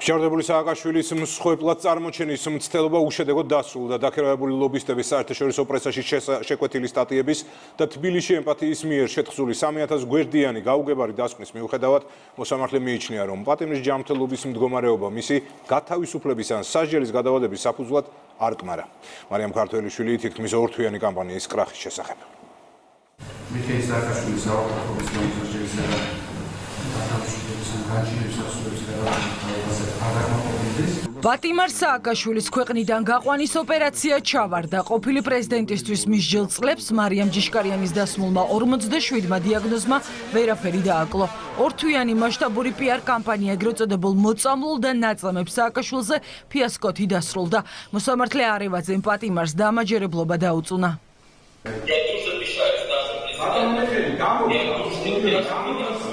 Მსჯავრდებული სააკაშვილის მსხვერპლად წარმოჩენის მცდელობა უშედეგოდ დასრულდა. დაქირავებული ლობისტების საერთაშორისო პრესაში შეკვეთილი სტატიების და თბილისში ემპათიის მიერ შეთხზული 3000 გვერდიანი გაუგებარი დასკვნის მიუხედავად მოსამართლე მიიჩნია, რომ პატიმრის ჯანმრთელობის მდგომარეობა მისი გათავისუფლების ან სასჯელის გადავადების საფუძვლად არ კმარა. მარიამ ქართველიშვილი თითქმის ორთვიანი კამპანიის კრახის შესახებ. მიხეილ სააკაშვილის საავადმყოფოს განსაზღვრის პატიმარ სააკაშვილის ქვეყნიდან გაყვანის ოპერაცია ჩავარდა. ყოფილი პრეზიდენტისთვის მისჯილ წლებს მარიამ ჯიშკარიანის დასმულმა 47-მა დიაგნოზმა ვერაფერი დააკლო. ორთვიანი მასშტაბური PR კამპანია ეგრეთ წოდებულ მოწამლულ და ნაწამებს სააკაშვილზე ფიასკოთი დასრულდა. მოსამართლე არევაძემ პატიმარს დამაჯერებლობა დაუწუნა.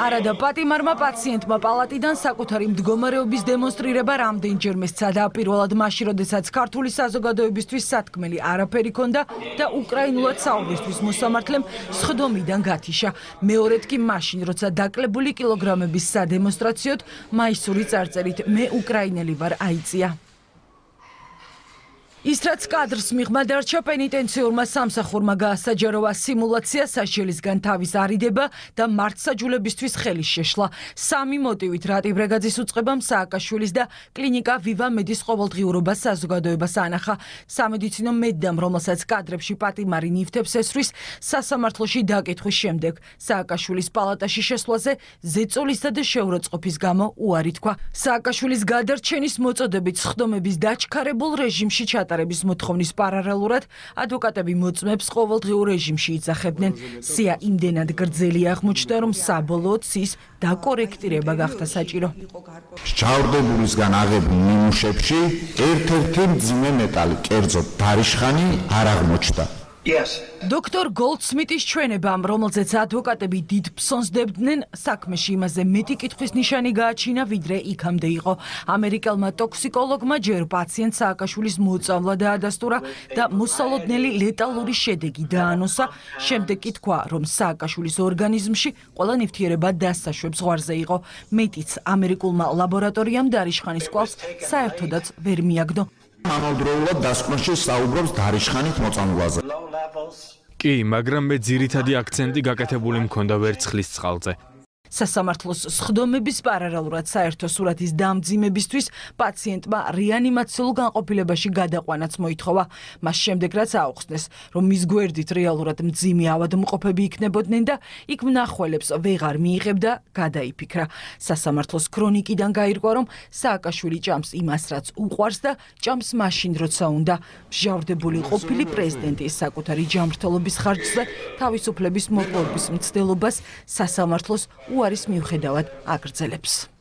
არადა პატიმარმა პაციენტმა პალატიდან საკუთარი მდგომარეობის დემონსტრირება რამდენჯერმე სცადა. პირველად მაშინ, როდესაც ქართული საზოგადოებისთვის სათქმელი არაფერი ჰქონდა და უკრაინულად საუბრისთვის მოსამართლემ სხდომიდან გათიშა. მეორედ კი მაშინ, როცა დაკლებული კილოგრამების სადემონსტრაციოდ მაისური წარწერით მე უკრაინელი ვარ აიწია. ის რაც კადრს მიღმა დარჩა, პენიტენციურმა სამსახურმა გაასაჯაროვა. სიმულაცია სასჯელისგან თავის არიდება და მართსაჯულებისთვის ხელი შეშლა. სამი მოტივით რატი ბრეგაძის უწყებამ სააკაშვილის და კლინიკა ვივა მედის ყოველდღიურობა საზოგადოებას ანახა. სამედიცინო მედდამ, რომელსაც კადრებში პატიმარი ნივთებს ესვრის, სასამართლოში დაკითხვის შემდეგ სააკაშვილის პალატაში შესვლაზე ზეწოლისა და შეურაცხყოფის გამო უარი თქვა. სააკაშვილის გადარჩენის მოწოდებით სხდომების დაჩქარებულ რეჟიმში ჩატარების მოთხოვნის პარალელურად ადვოკატები მოწმებს ყოველდღიურ რეჟიმში იძახებდნენ. სია იმდენად გრძელი აღმოჩნდა, რომ საბოლოოდ სის დაკორექტირება გახდა საჭირო. მსჯავრდებულისგან აღებულ ნიმუშებში ერთ-ერთი მძიმე მეტალი, კერძოდ დარიშხანი არ აღმოჩნდა. დოქტორ გოლდსმიტის ჩვენებამ, რომელზეც ადვოკატები დიდ ფსონს დებდნენ, საქმეში იმაზე მეტი კითხვის ნიშანი გააჩინა, ვიდრე იქამდე იყო. ამერიკელმა ტოქსიკოლოგმა ჯერ პაციენტ სააკაშვილის მოწამვლა დაადასტურა და მოსალოდნელი ლეტალური შედეგი დაანონსა. შემდეგ კი თქვა, რომ სააკაშვილის ორგანიზმში ყველა ნივთიერება დასაშვებ ზღვარზე იყო. მეტიც, ამერიკულმა ლაბორატორიამ დარიშხანის კვალს საერთოდაც ვერ მიაგნო. ამავდროულად დასკვნაში საუბრობს დარიშხანით მოწამვლაზე. კი, მაგრამ მე ძირითადი აქცენტი გაკეთებული მქონდა ვერცხლის წყალზე. სასამართლოს სხდომების პარალელურად საერთო სურათის დამძიმებისთვის პაციენტმა რეანიმაციულ განყოფილებაში გადაყვანაც მოითხოვა. მას შემდეგ რაც აუხსნეს, რომ მის გვერდით რეალურად მძიმე ავადმყოფები იქნებოდნენ და იქ მნახველებს ვეღარ მიიღებდა, გადაიფიქრა. სასამართლოს ქრონიკიდან გაირკვა, რომ სააკაშვილი ჭამს იმას, რაც უყვარს და ჭამს მაშინ, როცა უნდა. მსჯავრდებული ყოფილი პრეზიდენტის საკუთარი ჯანმრთელობის ხარჯზე თავისუფლების მოპოვების მცდელობას სასამართლოს უარის მიუხედავად აგრძელებს.